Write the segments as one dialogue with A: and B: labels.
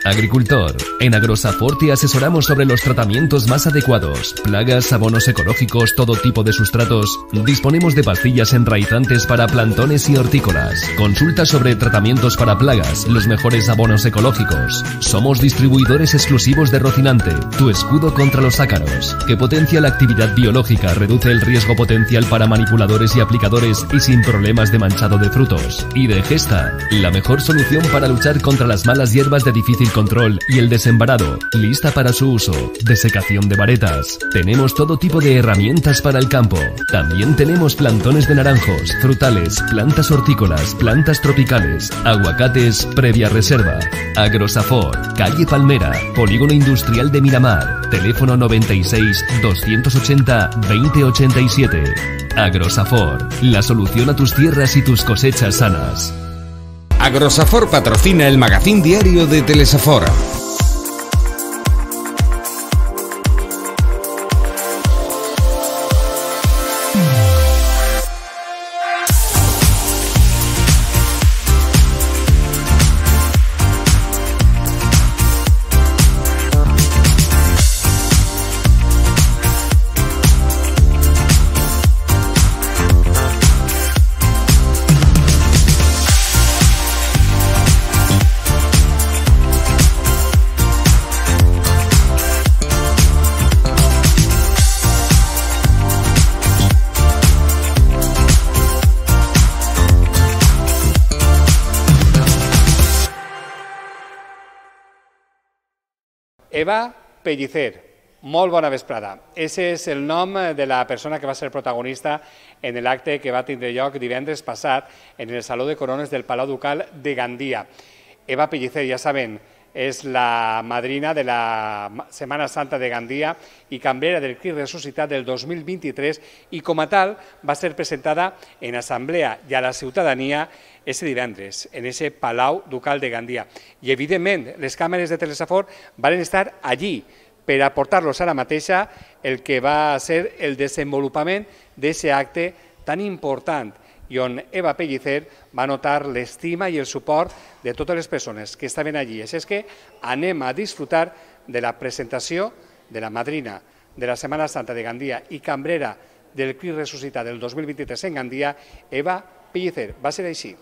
A: Agricultor. En Agrosafor te asesoramos sobre los tratamientos más adecuados. Plagas, abonos ecológicos, todo tipo de sustratos. Disponemos de pastillas enraizantes para plantones y hortícolas. Consulta sobre tratamientos para plagas, los mejores abonos ecológicos. Somos distribuidores exclusivos de Rocinante, tu escudo contra los ácaros, que potencia la actividad biológica, reduce el riesgo potencial para manipuladores y aplicadores y sin problemas de manchado de frutos. Y de Gesta, la mejor solución para luchar contra las malas hierbas de difícil control y el desembarado, lista para su uso. Desecación de varetas. Tenemos todo tipo de herramientas para el campo. También tenemos plantones de naranjos, frutales, plantas hortícolas, plantas tropicales, aguacates previa reserva. Agrosafor, calle Palmera, Polígono Industrial de Miramar. Teléfono 96 280 2087. Agrosafor, la solución a tus tierras y tus cosechas sanas.
B: Agrosafor patrocina el magazín diario de Telesafor.
C: Eva Pellicer, molt bona vesprada. Ese és el nom de la persona que va ser protagonista en l'acte que va tindre lloc divendres passat en el Saló de Corones del Palau Ducal de Gandia. Eva Pellicer, ja saben, és la madrina de la Setmana Santa de Gandia i cambrera del Crist Ressuscitat del 2023 i com a tal va ser presentada en assemblea i a la ciutadania ese divendres, en ese Palau Ducal de Gandia. I, evidentment, les càmeres de Telesafor van estar allí per aportar-los ara mateixa el que va ser el desenvolupament d'aquest acte tan important i on Eva Pellicer va notar l'estima i el suport de totes les persones que estaven allí. Així és que anem a disfrutar de la presentació de la madrina de la Setmana Santa de Gandia i cambrera del Crist Ressuscitat del 2023 en Gandia, Eva Pellicer. Va ser així.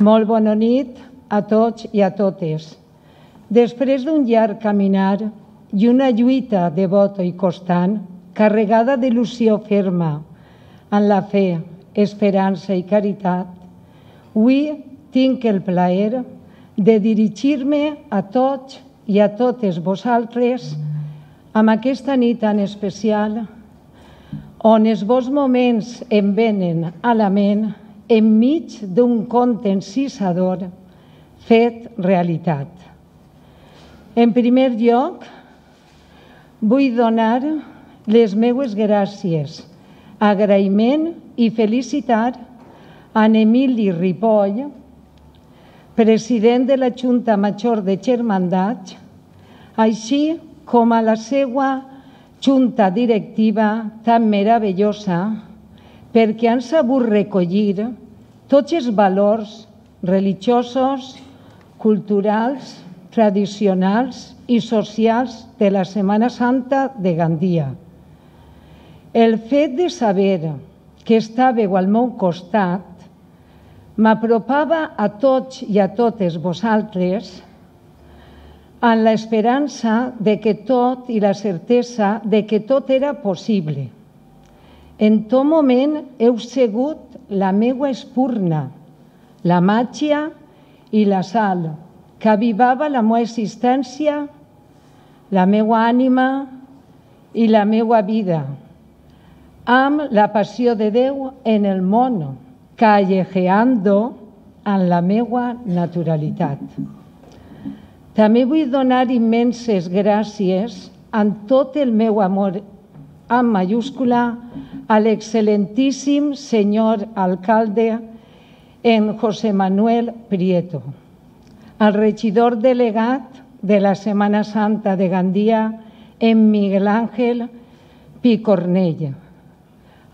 D: Molt bona nit a tots i a totes. Després d'un llarg caminar i una lluita devota i constant, carregada d'il·lusió ferma en la fe, esperança i caritat, avui tinc el plaer de dirigir-me a tots i a totes vosaltres amb aquesta nit tan especial on els vostres moments em venen a la ment enmig d'un conte encisador fet realitat. En primer lloc, vull donar les meues gràcies, agraïment i felicitar a Emili Ripoll, president de la Junta Major de Germandats, així com a la seva junta directiva tan meravellosa, perquè han sabut recollir tots els valors religiosos, culturals, tradicionals i socials de la Setmana Santa de Gandia. El fet de saber que estàveu al meu costat m'apropava a tots i a totes vosaltres amb l'esperança de que tot i la certesa de que tot era possible. En tot moment heu sigut la meua espurna, la màgia i la sal que avivava la meua existència, la meua ànima i la meua vida, amb la passió de Déu en el món, callejeando en la meua naturalitat. També vull donar immenses gràcies amb tot el meu amor amb mayúscula a l'excel·lentíssim senyor alcalde en José Manuel Prieto, al regidor delegat de la Setmana Santa de Gandia en Miguel Ángel Picornell,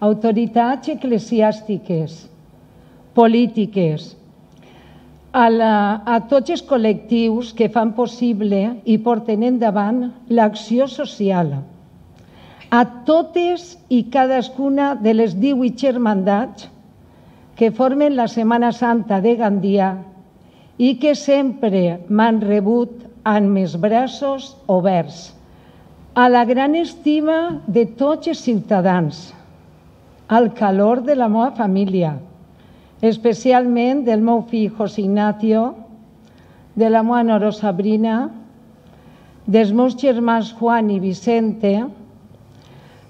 D: autoritats eclesiàstiques, polítiques, a tots els col·lectius que fan possible i porten endavant l'acció social, a totes i cadascuna de les 18 germandats que formen la Setmana Santa de Gandia i que sempre m'han rebut amb els braços oberts, a la gran estima de tots els ciutadans, al calor de la meva família, especialment del meu fill José Ignacio, de la meva nora Sabrina, dels meus germans Juan i Vicente,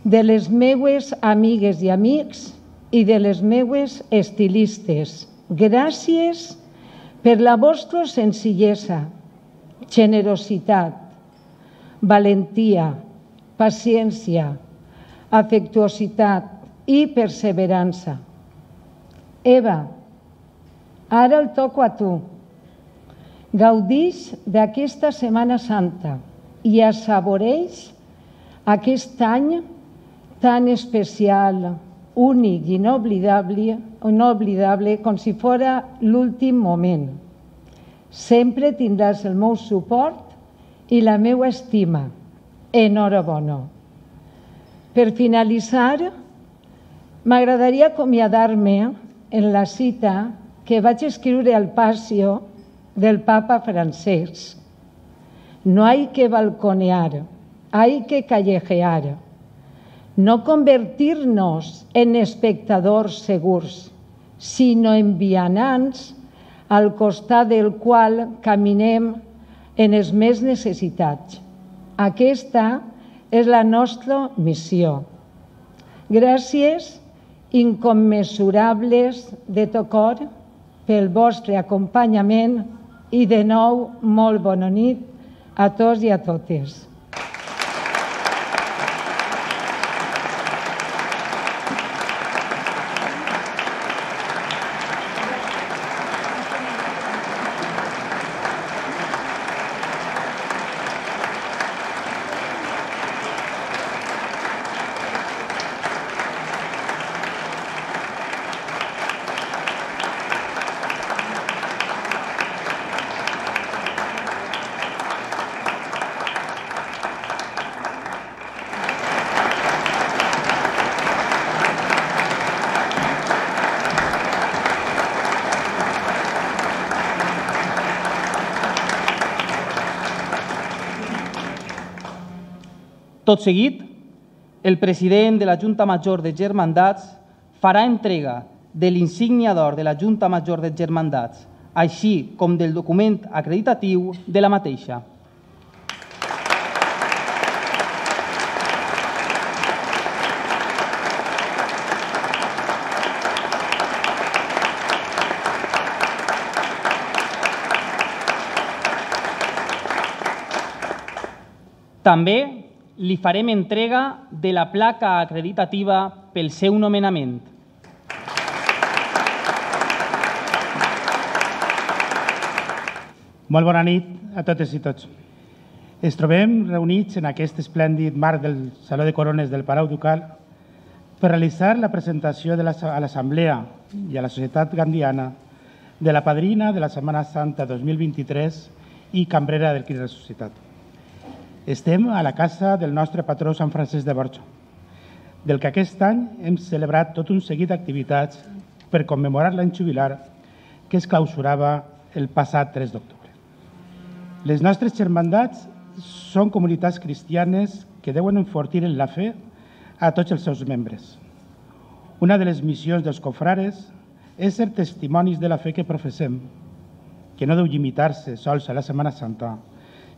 D: de les meues amigues i amics i de les meues estilistes. Gràcies per la vostra senzillesa, generositat, valentia, paciència, afectuositat i perseverança. Eva, ara el toco a tu. Gaudix d'aquesta Setmana Santa i assaboreix aquest any tan especial, únic i inoblidable com si fos l'últim moment. Sempre tindràs el meu suport i la meva estima. Enhorabona. Per finalitzar, m'agradaria acomiadar-me en la cita que vaig escriure al Passió del Papa Francesc. No hay que balconear, hay que callejear. No convertir-nos en espectadors segurs, sinó en vianants al costat del qual caminem en els més necessitats. Aquesta és la nostra missió. Gràcies incommensurables de tot cor pel vostre acompanyament i de nou molt bona nit a tots i a totes.
E: Tot seguit, el president de la Junta Major de Germandats farà entrega de l'insígnia d'or de la Junta Major de Germandats, així com del document acreditatiu de la mateixa. També li farem entrega de la placa acreditativa pel seu nomenament.
F: Molt bona nit a totes i tots. Ens trobem reunits en aquest esplèndid marc del Saló de Corones del Palau Ducal per realitzar la presentació a l'Assemblea i a la societat gandiana de la padrina de la Setmana Santa 2023 i cambrera del Crist Ressuscitat. Estem a la casa del nostre patró Sant Francesc de Borja, del que aquest any hem celebrat tot un seguit d'activitats per commemorar l'any jubilar que es clausurava el passat 3 d'octubre. Les nostres germandats són comunitats cristianes que deuen enfortir en la fe a tots els seus membres. Una de les missions dels confrares és ser testimonis de la fe que professem, que no deu limitar-se sols a la Setmana Santa,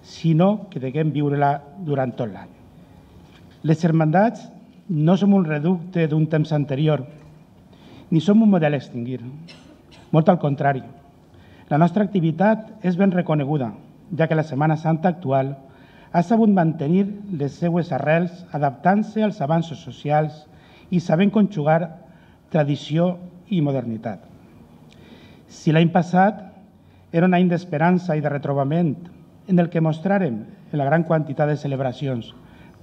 F: sinó que deguem viure-la durant tot l'any. Les germandats no som un reducte d'un temps anterior, ni som un model a extingir. Molt al contrari, la nostra activitat és ben reconeguda, ja que la Setmana Santa actual ha sabut mantenir les seues arrels adaptant-se als avanços socials i sabent conjugar tradició i modernitat. Si l'any passat era un any d'esperança i de retrobament en el que mostràrem en la gran quantitat de celebracions,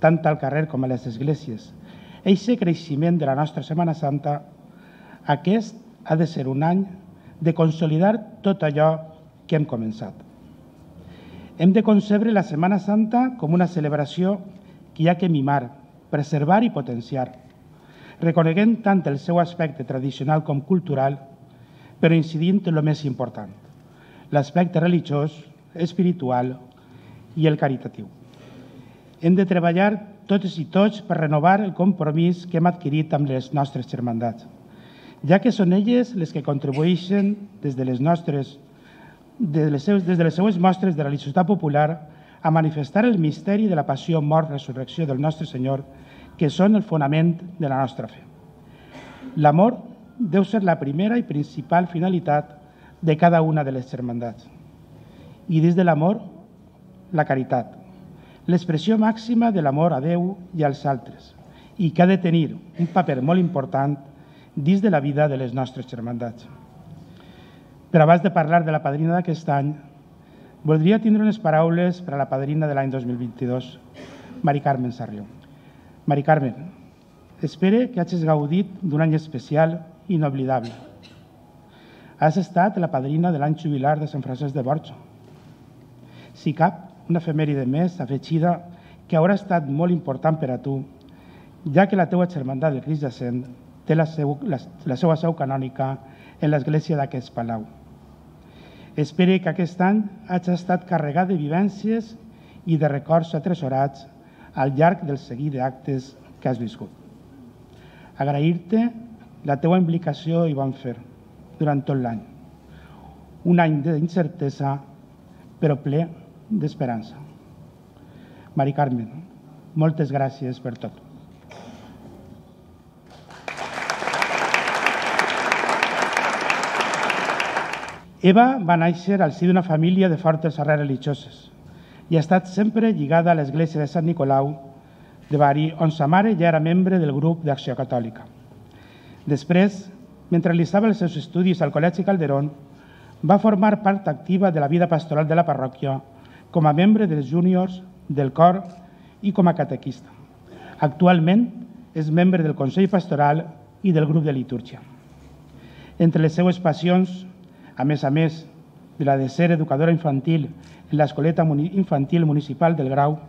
F: tant al carrer com a les esglésies, aquest creixement de la nostra Setmana Santa, aquest ha de ser un any de consolidar tot allò que hem començat. Hem de concebre la Setmana Santa com una celebració que hi ha que mimar, preservar i potenciar, reconeguent tant el seu aspecte tradicional com cultural, però incidint en el més important, l'aspecte religiós, espiritual i el caritatiu. Hem de treballar totes i tots per renovar el compromís que hem adquirit amb les nostres germandats, ja que són elles les que contribueixen des de les seues mostres de religiositat popular a manifestar el misteri de la passió, mort, resurrecció del nostre Senyor, que són el fonament de la nostra fe. L'amor deu ser la primera i principal finalitat de cada una de les germandats. I dins de l'amor, la caritat, l'expressió màxima de l'amor a Déu i als altres, i que ha de tenir un paper molt important dins de la vida de les nostres germandats. Però abans de parlar de la padrina d'aquest any, voldria tindre unes paraules per a la padrina de l'any 2022, Mari Carmen Sarrió. Mari Carmen, espero que hagis gaudit d'un any especial i inoblidable. Has estat la padrina de l'any jubilar de Sant Francesc de Borja. Si cap, una efemèride més afegida que haurà estat molt important per a tu, ja que la teua germandat del Crist Jacent té la seva seu canònica en l'església d'aquest palau. Espero que aquest any hagi estat carregat de vivències i de records atresorats al llarg del seguit d'actes que has viscut. Agrair-te la teua implicació i bon fer durant tot l'any. Un any d'incertesa, però ple d'esperança. Mari Carmen, moltes gràcies per tot. Eva va néixer al si d'una família de fortes arrels religioses i ha estat sempre lligada a l'església de Sant Nicolau de Bari, on sa mare ja era membre del grup d'Acció Catòlica. Després, mentre realitzava els seus estudis al Col·legi Calderón, va formar part activa de la vida pastoral de la parròquia com a membre dels júniors, del cor i com a catequista. Actualment és membre del Consell Pastoral i del grup de litúrgia. Entre les seues passions, a més de la de ser educadora infantil en l'Escoleta Infantil Municipal del Grau,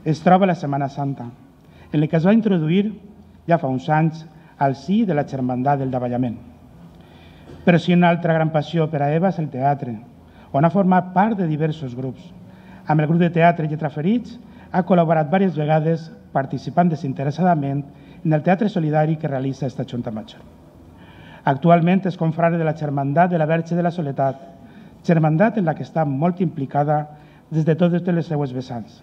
F: es troba la Setmana Santa, en la que es va introduir ja fa uns anys al si de la Germandat del Davallament. Però si una altra gran passió per a Eva és el teatre, on ha format part de diversos grups. Amb el grup de teatre Lletraferits ha col·laborat diverses vegades participant desinteressadament en el teatre solidari que realitza esta Junta Major. Actualment és confrare de la Germandat de la Verge de la Soledat, germandat en la que està molt implicada des de totes les seues vessants,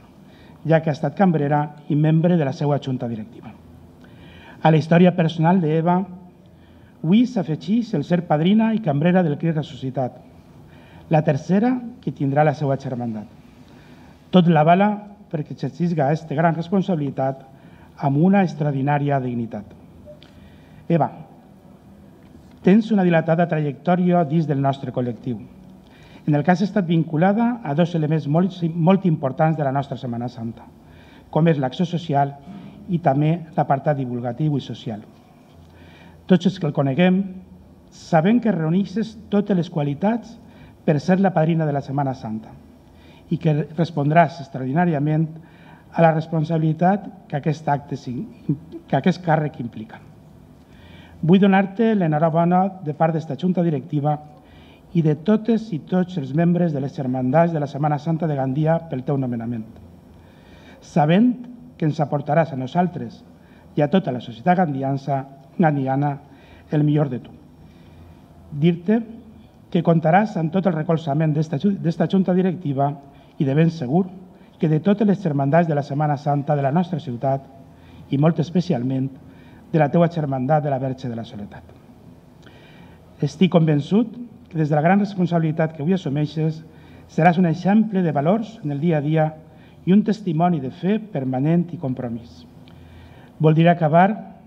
F: ja que ha estat cambrera i membre de la seva junta directiva. A la història personal d'Eva, avui s'afegeix el ser padrina i cambrera del Crist Ressuscitat, la tercera que tindrà la seva germandat. Tot l'avala perquè exercisca aquesta gran responsabilitat amb una extraordinària dignitat. Eva, tens una dilatada trajectòria dins del nostre col·lectiu. En el cas ha estat vinculada a dos elements molt importants de la nostra Setmana Santa, com és l'acció social i també l'apartat divulgatiu i social. Tots els que el coneguem sabem que reuneixes totes les qualitats per ser la padrina de la Setmana Santa i que respondràs extraordinàriament a la responsabilitat que aquest càrrec implica. Vull donar-te l'enhorabona de part d'esta Junta Directiva i de totes i tots els membres de les germandats de la Setmana Santa de Gandia pel teu nomenament, sabent que ens aportaràs a nosaltres i a tota la societat gandiana el millor de tu. Dir-te que comptaràs amb tot el recolzament d'esta Junta Directiva i de ben segur que de totes les germandats de la Setmana Santa de la nostra ciutat i molt especialment de la teua germandat de la Verge de la Soledat. Estic convençut que des de la gran responsabilitat que avui assumeixes seràs un exemple de valors en el dia a dia i un testimoni de fe permanent i compromís. Voldria acabar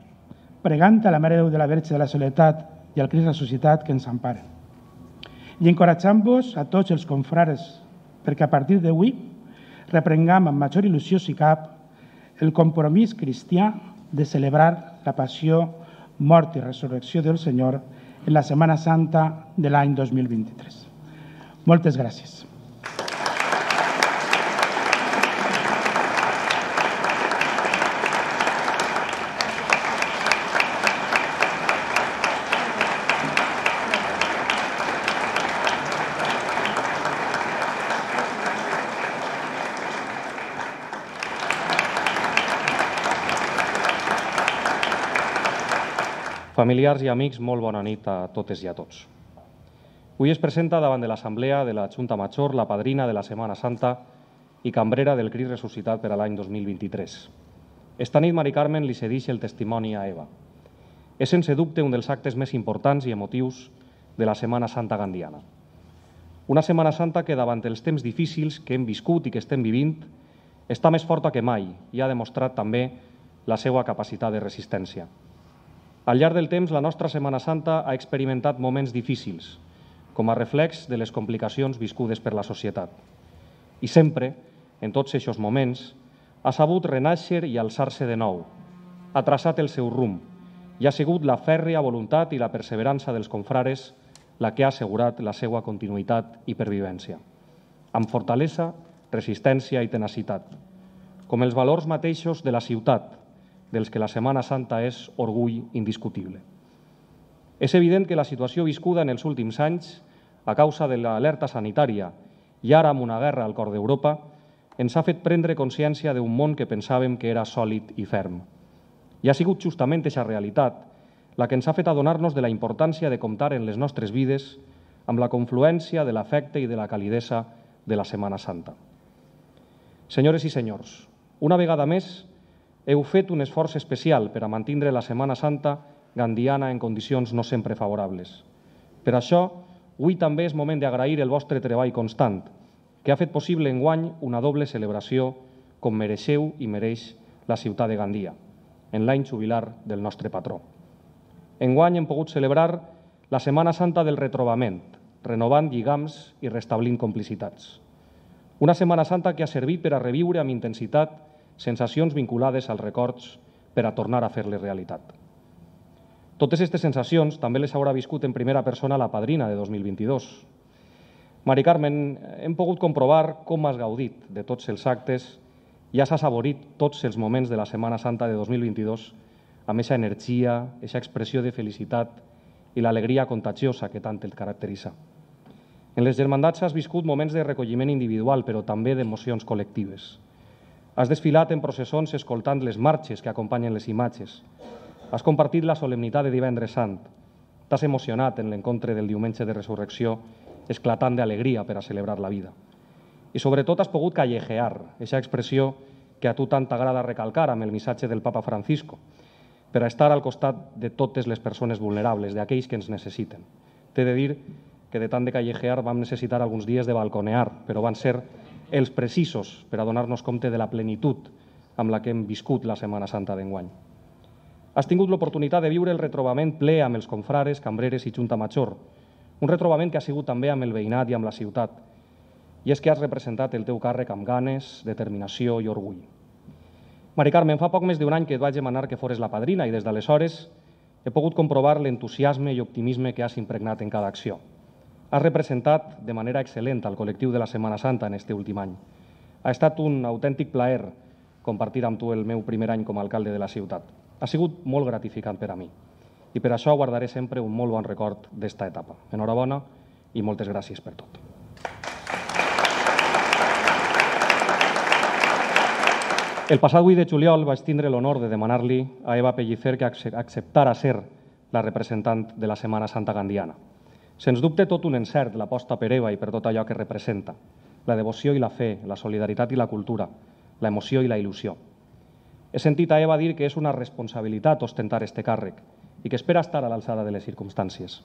F: pregant a la Mare de Déu de la Verge de la Soledat i al Crist Ressuscitat que ens emparen i encoratjant-vos a tots els confrares perquè a partir d'avui reprengam amb major il·lusió si cap el compromís cristià de celebrar la passió, mort i resurrecció del Senyor en la Setmana Santa de l'any 2023. Moltes gràcies.
G: Familiars i amics, molt bona nit a totes i a tots. Avui es presenta davant de l'Assemblea de la Junta Major la padrina de la Setmana Santa i cambrera del Crist Ressuscitat per a l'any 2023. Esta nit, Mari Carmen li cedeix el testimoni a Eva. És sense dubte un dels actes més importants i emotius de la Setmana Santa gandiana. Una Setmana Santa que davant els temps difícils que hem viscut i que estem vivint està més forta que mai i ha demostrat també la seva capacitat de resistència. Al llarg del temps, la nostra Setmana Santa ha experimentat moments difícils, com a reflex de les complicacions viscudes per la societat. I sempre, en tots aquests moments, ha sabut renaixer i alçar-se de nou, ha traçat el seu rumb i ha sigut la fèrria voluntat i la perseverança dels confrares la que ha assegurat la seva continuïtat i pervivència, amb fortalesa, resistència i tenacitat, com els valors mateixos de la ciutat, dels que la Setmana Santa és orgull indiscutible. És evident que la situació viscuda en els últims anys, a causa de l'alerta sanitària i ara amb una guerra al cor d'Europa, ens ha fet prendre consciència d'un món que pensàvem que era sòlid i ferm. I ha sigut justament aquesta realitat la que ens ha fet adonar-nos de la importància de comptar en les nostres vides amb la confluència de l'afecte i de la calidesa de la Setmana Santa. Senyores i senyors, una vegada més, heu fet un esforç especial per a mantindre la Setmana Santa gandiana en condicions no sempre favorables. Per això, avui també és moment d'agrair el vostre treball constant, que ha fet possible enguany una doble celebració com mereixeu i mereix la ciutat de Gandia, en l'any jubilar del nostre patró. Enguany hem pogut celebrar la Setmana Santa del retrobament, renovant lligams i restablint complicitats. Una Setmana Santa que ha servit per a reviure amb intensitat sensacions vinculades als records per a tornar a fer-les realitat. Totes aquestes sensacions també les haurà viscut en primera persona la padrina de 2022. Mari Carmen, hem pogut comprovar com has gaudit de tots els actes i has assaborit tots els moments de la Setmana Santa de 2022 amb aquesta energia, aquesta expressió de felicitat i l'alegria contagiosa que tant et caracteritza. En les germandats has viscut moments de recolliment individual, però també d'emocions col·lectives. Has desfilat en processons escoltant les marxes que acompanyen les imatges. Has compartit la solemnitat de Divendres Sant. T'has emocionat en l'encontre del diumenge de resurrecció, esclatant d'alegria per a celebrar la vida. I sobretot has pogut callejear, aquesta expressió que a tu tant t'agrada recalcar amb el missatge del Papa Francisco, per a estar al costat de totes les persones vulnerables, d'aquells que ens necessiten. T'he de dir que de tant de callejear vam necessitar alguns dies de balconear, però van ser els precisos per a donar-nos compte de la plenitud amb la que hem viscut la Setmana Santa d'enguany. Has tingut l'oportunitat de viure el retrobament ple amb els confrares, cambreres i Junta Major, un retrobament que ha sigut també amb el veïnat i amb la ciutat, i és que has representat el teu càrrec amb ganes, determinació i orgull. Mari Carmen, fa poc més d'un any que et vaig demanar que fores la padrina i des d'aleshores he pogut comprovar l'entusiasme i optimisme que has impregnat en cada acció. Has representat de manera excel·lent al col·lectiu de la Setmana Santa en aquest últim any. Ha estat un autèntic plaer compartir amb tu el meu primer any com a alcalde de la ciutat. Ha sigut molt gratificant per a mi i per això guardaré sempre un molt bon record d'esta etapa. Enhorabona i moltes gràcies per tot. El passat 8 de juliol vaig tindre l'honor de demanar-li a Eva Pellicer que acceptara ser la representant de la Setmana Santa gandiana. Sens dubte tot un encert l'aposta per Eva i per tot allò que representa, la devoció i la fe, la solidaritat i la cultura, la emoció i la il·lusió. He sentit a Eva dir que és una responsabilitat ostentar este càrrec i que espera estar a l'alçada de les circumstàncies.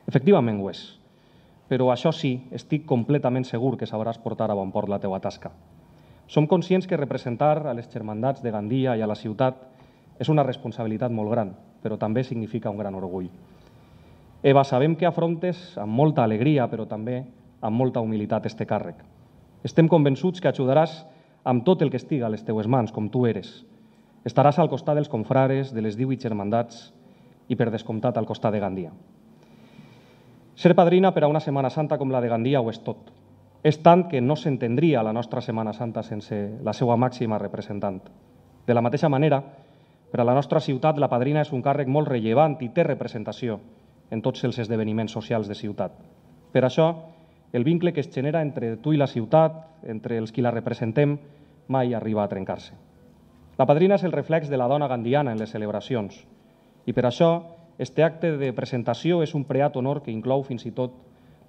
G: Efectivament ho és, però això sí, estic completament segur que sabràs portar a bon port la teua tasca. Som conscients que representar a les germandats de Gandia i a la ciutat és una responsabilitat molt gran, però també significa un gran orgull. Eva, sabem que afrontes amb molta alegria, però també amb molta humilitat este càrrec. Estem convençuts que ajudaràs amb tot el que estiga a les teues mans, com tu eres. Estaràs al costat dels confrares, de les 18 germandats i, per descomptat, al costat de Gandia. Ser padrina per a una Setmana Santa com la de Gandia ho és tot. És tant que no s'entendria la nostra Setmana Santa sense la seva màxima representant. De la mateixa manera, per a la nostra ciutat, la padrina és un càrrec molt rellevant i té representació en tots els esdeveniments socials de ciutat. Per això, el vincle que es genera entre tu i la ciutat, entre els qui la representem, mai arriba a trencar-se. La padrina és el reflex de la dona gandiana en les celebracions i per això este acte de presentació és un preat honor que inclou fins i tot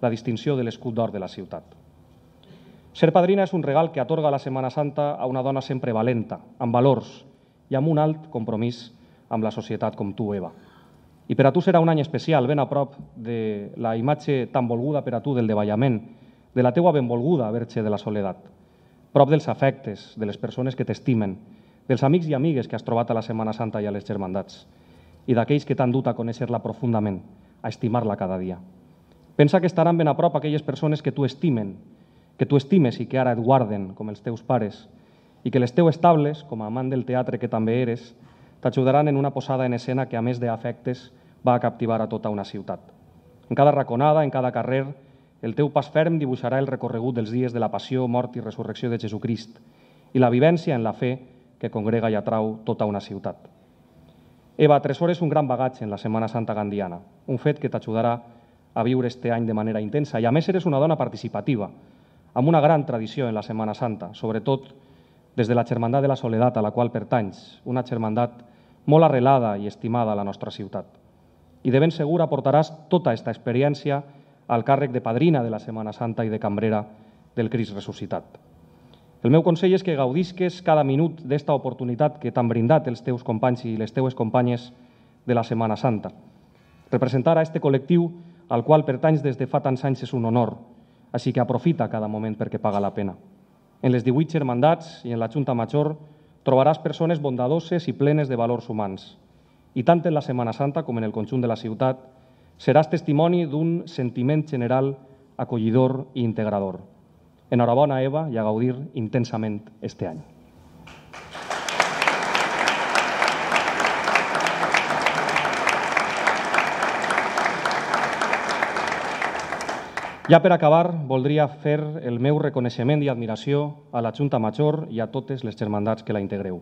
G: la distinció de l'escut d'or de la ciutat. Ser padrina és un regal que atorga la Setmana Santa a una dona sempre valenta, amb valors i amb un alt compromís amb la societat com tu, Eva. I per a tu serà un any especial, ben a prop de la imatge tan volguda per a tu del davallament, de la teua benvolguda Verge de la Soledat, prop dels afectes, de les persones que t'estimen, dels amics i amigues que has trobat a la Setmana Santa i a les germandats, i d'aquells que t'han dut a conèixer-la profundament, a estimar-la cada dia. Pensa que estaran ben a prop aquelles persones que tu estimes i que ara et guarden, com els teus pares, i que les teues tables, com a amant del teatre que també eres, t'ajudaran en una posada en escena que, a més d'afectes, va a captivar a tota una ciutat. En cada raconada, en cada carrer, el teu pas ferm dibuixarà el recorregut dels dies de la passió, mort i resurrecció de Jesucrist i la vivència en la fe que congrega i atrau tota una ciutat. Eva, atresores un gran bagatge en la Setmana Santa gandiana, un fet que t'ajudarà a viure este any de manera intensa. I a més eres una dona participativa, amb una gran tradició en la Setmana Santa, sobretot des de la Germandat de la Soledat a la qual pertanys, una germandat molt arrelada i estimada a la nostra ciutat. I de ben segur aportaràs tota aquesta experiència al càrrec de padrina de la Setmana Santa i de cambrera del Crist ressuscitat. El meu consell és que gaudisques cada minut d'esta oportunitat que t'han brindat els teus companys i les teues companyes de la Setmana Santa. Representar a este col·lectiu al qual pertanys des de fa tants anys és un honor, així que aprofita cada moment perquè paga la pena. En les 18 germandats i en la Junta Major trobaràs persones bondadoses i plenes de valors humans. I tant en la Setmana Santa com en el conjunt de la ciutat seràs testimoni d'un sentiment general acollidor i integrador. Enhorabona, Eva, i a gaudir intensament este any. Ja per acabar, voldria fer el meu reconeixement i admiració a la Junta Major i a totes les germandats que la integreu,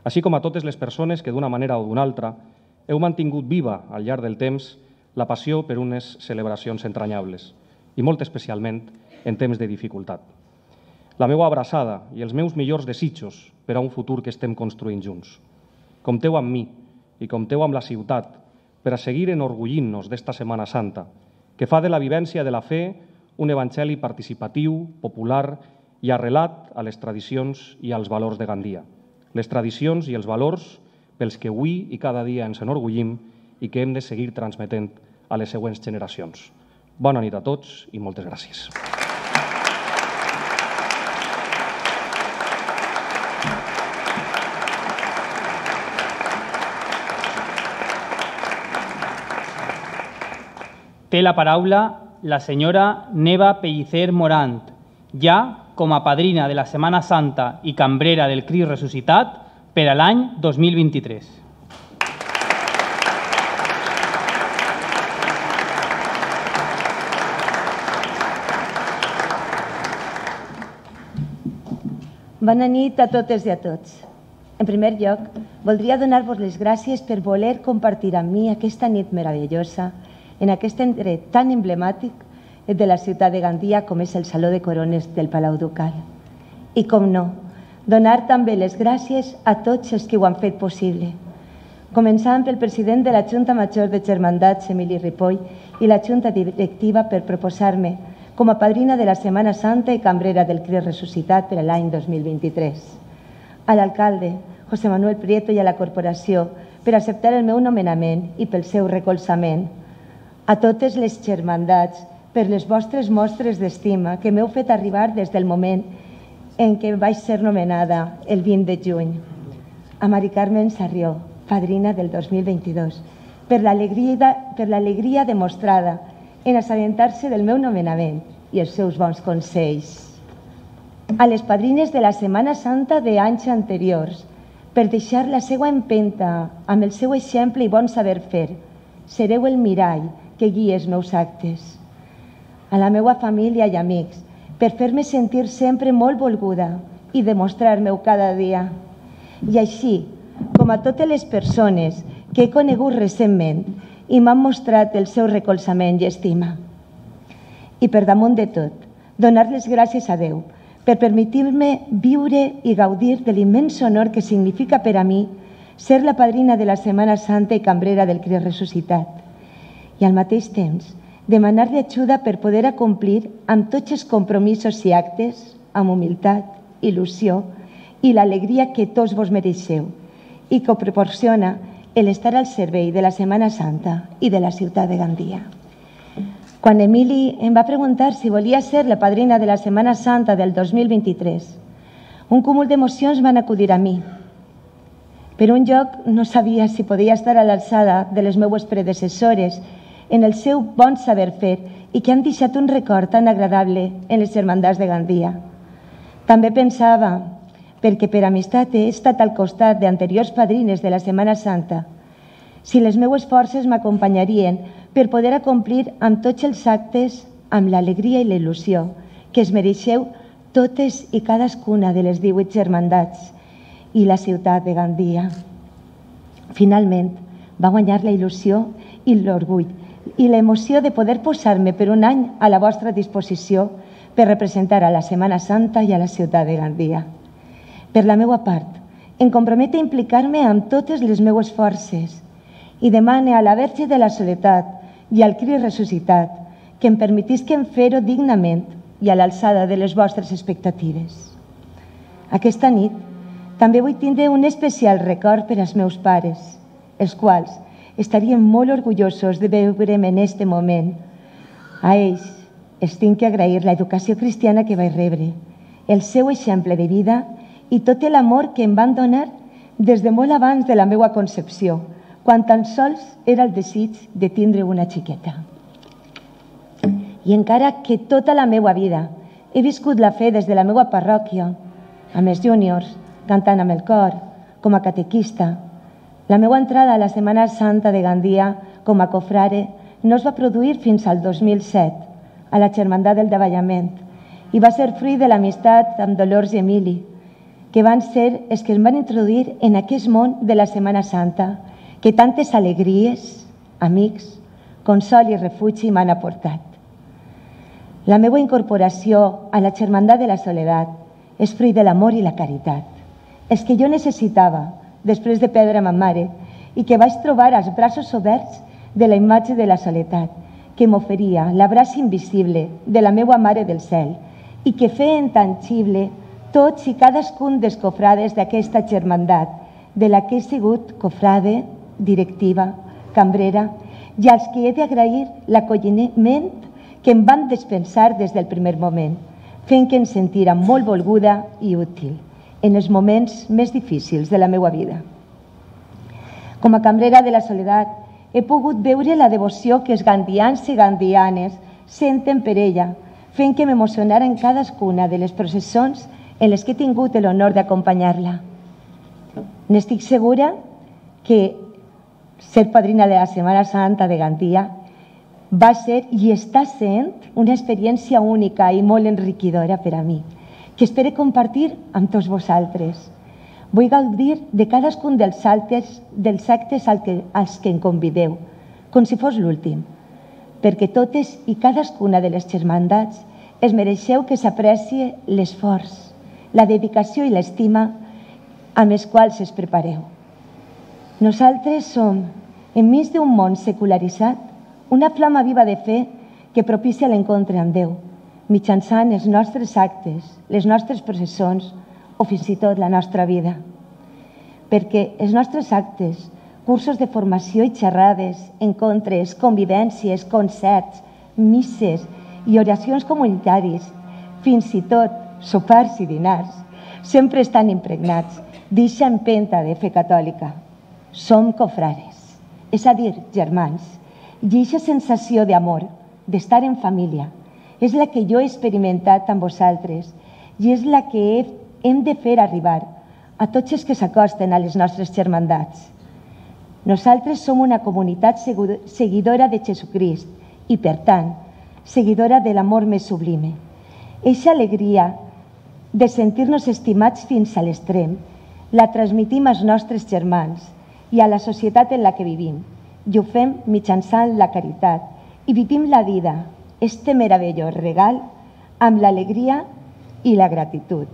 G: així com a totes les persones que d'una manera o d'una altra heu mantingut viva al llarg del temps la passió per unes celebracions entranyables, i molt especialment en temps de dificultat. la meva abraçada i els meus millors desitjos per a un futur que estem construint junts. Compteu amb mi i compteu amb la ciutat per a seguir enorgullint-nos d'esta Setmana Santa, que fa de la vivència de la fe un evangeli participatiu, popular i arrelat a les tradicions i als valors de Gandia. Les tradicions i els valors pels que avui i cada dia ens enorgullim i que hem de seguir transmetent a les següents generacions. Bona nit a tots i moltes gràcies.
E: Té la paraula la senyora Neva Pellicer Morant, ja com a padrina de la Setmana Santa i cambrera del Crist Ressuscitat per a l'any 2023.
H: Bona nit a totes i a tots. En primer lloc, voldria donar-vos les gràcies per voler compartir amb mi aquesta nit meravellosa en aquest indret tan emblemàtic de la ciutat de Gandia com és el Saló de Corones del Palau Ducal. I com no, donar també les gràcies a tots els que ho han fet possible, començant pel president de la Junta Major de Germandats, Emili Ripoll, i la Junta Directiva per proposar-me com a padrina de la Setmana Santa i cambrera del Crist Ressuscitat per a l'any 2023. A l'alcalde, José Manuel Prieto, i a la corporació per acceptar el meu nomenament i pel seu recolzament. A totes les germandats per les vostres mostres d'estima que m'heu fet arribar des del moment en què vaig ser nomenada el 20 de juny. A Mari Carmen Sarrió, padrina del 2022, per l'alegria demostrada en assabentar-se del meu nomenament i els seus bons consells. A les padrines de la Setmana Santa d'anys anteriors, per deixar la seva empenta amb el seu exemple i bon saber fer. Sereu el mirall que guia els meus actes. A la meva família i amics, per fer-me sentir sempre molt volguda i demostrar-me-ho cada dia. I així, com a totes les persones que he conegut recentment i m'han mostrat el seu recolzament i estima. I per damunt de tot, donar les gràcies a Déu per permetir-me viure i gaudir de l'immens honor que significa per a mi ser la padrina de la Setmana Santa i cambrera del Crist Ressuscitat. I al mateix temps, demanar-li ajuda per poder acomplir amb tots els compromisos i actes, amb humilitat, il·lusió i l'alegria que tots vos mereixeu i que proporciona l'estar al servei de la Setmana Santa i de la ciutat de Gandia. Quan Emili em va preguntar si volia ser la padrina de la Setmana Santa del 2023, un cúmul d'emocions van acudir a mi. Per un lloc, no sabia si podia estar a l'alçada de les meues predecessores en el seu bon saber fer i que han deixat un record tan agradable en les germandats de Gandia. També pensava, perquè per amistat he estat al costat d'anteriors padrines de la Setmana Santa, si les meues forces m'acompanyarien per poder acomplir amb tots els actes amb l'alegria i la il·lusió que es mereixeu totes i cadascuna de les 18 germandats i la ciutat de Gandia. Finalment, va guanyar la il·lusió i l'orgull i l'emoció de poder posar-me per un any a la vostra disposició per representar a la Setmana Santa i a la ciutat de Gandia. Per la meva part, em comprometo a implicar-me amb totes les meues forces i demane a la Verge de la Soledat i al Crist Ressuscitat que em permetisquen fer-ho dignament i a l'alçada de les vostres expectatives. Aquesta nit també vull tindre un especial record per als meus pares, els quals estarien molt orgullosos de veure'm en aquest moment. A ells els tinc que agrair l'educació cristiana que vaig rebre, el seu exemple de vida i tot l'amor que em van donar des de molt abans de la meva concepció, quan tan sols era el desig de tindre una xiqueta. I encara que tota la meva vida he viscut la fe des de la meva parròquia, amb els júniors, cantant amb el cor, com a catequista, la meva entrada a la Setmana Santa de Gandia com a cofrare no es va produir fins al 2007, a la Germandat del Davallament, i va ser fruit de l'amistat amb Dolors i Emili, que van ser els que em van introduir en aquest món de la Setmana Santa, que tantes alegries, amics, consol i refugi m'han aportat. La meva incorporació a la Germandat de la Soledat és fruit de l'amor i la caritat. Els que jo necessitava després de perdre ma mare i que vaig trobar als braços oberts de la imatge de la soledat, que m'oferia l'abraç invisible de la meua Mare del Cel i que feia intangible tots i cadascun dels cofrades d'aquesta germandat, de la que he sigut cofrade, directiva, cambrera, i als que he d'agrair l'acolliment que em van dispensar des del primer moment, fent que em sentira molt volguda i útil en els moments més difícils de la meva vida. Com a cambrera de la soledat, he pogut veure la devoció que els gandians i gandianes senten per ella, fent que m'emocionara en cadascuna de les processons en les que he tingut l'honor d'acompanyar-la. N'estic segura que ser padrina de la Setmana Santa de Gandia va ser i està sent una experiència única i molt enriquidora per a mi, que espero compartir amb tots vosaltres. Vull gaudir de cadascun dels actes als que em convideu, com si fos l'últim, perquè totes i cadascuna de les germandats es mereixeu que s'aprecie l'esforç, la dedicació i l'estima amb els quals es prepareu. Nosaltres som, enmig d'un món secularitzat, una flama viva de fe que propicia l'encontre amb Déu, mitjançant els nostres actes, les nostres processons o fins i tot la nostra vida. Perquè els nostres actes, cursos de formació i xerrades, encontres, convivències, concerts, misses i oracions comunitaris, fins i tot sopars i dinars, sempre estan impregnats d'eixa empenta de fe catòlica. Som cofrares, és a dir, germans, i eixa sensació d'amor, d'estar en família, és la que jo he experimentat amb vosaltres i és la que hem de fer arribar a tots els que s'acosten a les nostres germandats. Nosaltres som una comunitat seguidora de Jesucrist i, per tant, seguidora de l'amor més sublime. Eixa alegria de sentir-nos estimats fins a l'extrem la transmitim als nostres germans i a la societat en la que vivim, i ho fem mitjançant la caritat i vivim la vida, este meravellós regal, amb l'alegria i la gratitud,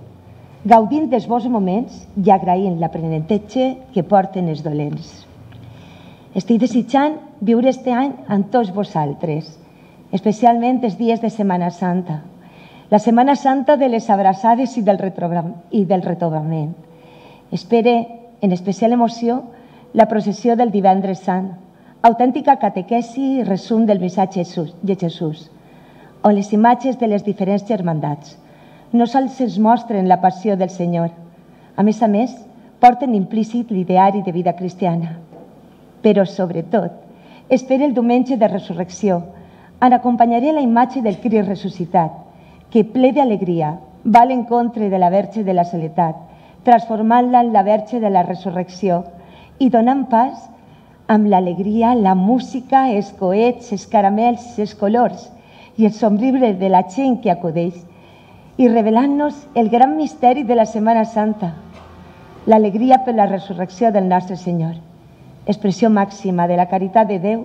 H: gaudint dels bons moments i agraint l'aprenentatge que porten els dolents. Estic desitjant viure este any amb tots vosaltres, especialment els dies de Setmana Santa, la Setmana Santa de les abraçades i del retrobament. Espere, en especial emoció, la processió del Divendres Sant, autèntica catequesi i resum del missatge de Jesús, on les imatges de les diferents germandats no sols ens mostren la passió del Senyor, a més, porten implícit l'ideari de vida cristiana. Però, sobretot, espera el diumenge de resurrecció, on acompanyaré la imatge del Crist ressuscitat, que, ple d'alegria, va a l'encontre de la Verge de la Soledat, transformant-la en la Verge de la Resurrecció i donant pas amb l'alegria, la música, els coets, els caramels, els colors i el somriure de la gent que acudeix i revelant-nos el gran misteri de la Setmana Santa, l'alegria per la resurrecció del nostre Senyor, expressió màxima de la caritat de Déu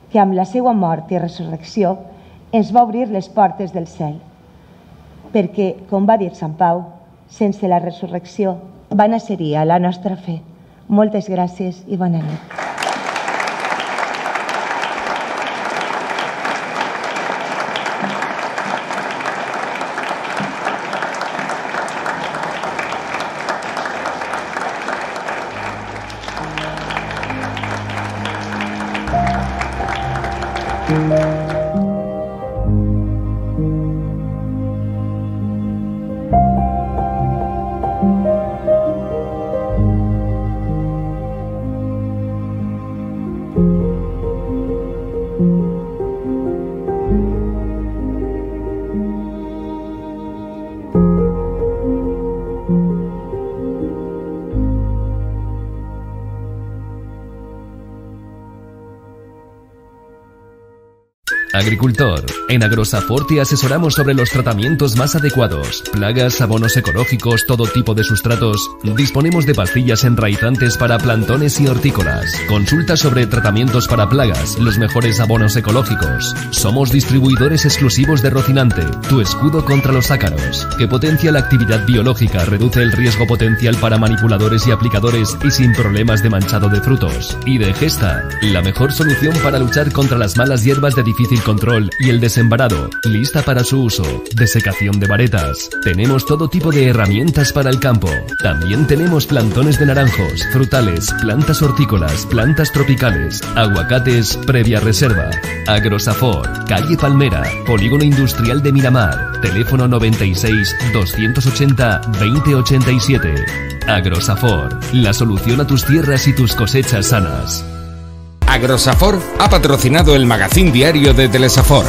H: que amb la seva mort i resurrecció ens va obrir les portes del cel. Perquè, com va dir Sant Pau, sense la resurrecció vana seria la nostra fe. Moltes gràcies i bona nit.
A: Agricultor. En Agrosafor te asesoramos sobre los tratamientos más adecuados. Plagas, abonos ecológicos, todo tipo de sustratos. Disponemos de pastillas enraizantes para plantones y hortícolas. Consulta sobre tratamientos para plagas, los mejores abonos ecológicos. Somos distribuidores exclusivos de Rocinante, tu escudo contra los ácaros, que potencia la actividad biológica, reduce el riesgo potencial para manipuladores y aplicadores y sin problemas de manchado de frutos. Y de Gesta, la mejor solución para luchar contra las malas hierbas de difícil control y el desembarado, lista para su uso. Desecación de varetas. Tenemos todo tipo de herramientas para el campo. También tenemos plantones de naranjos, frutales, plantas hortícolas, plantas tropicales, aguacates previa reserva. Agrosafor, calle Palmera, Polígono Industrial de Miramar, teléfono 96 280 2087. Agrosafor, la solución a tus tierras y tus cosechas sanas.
B: Agrosafor ha patrocinado el magazín diario de Telesafor.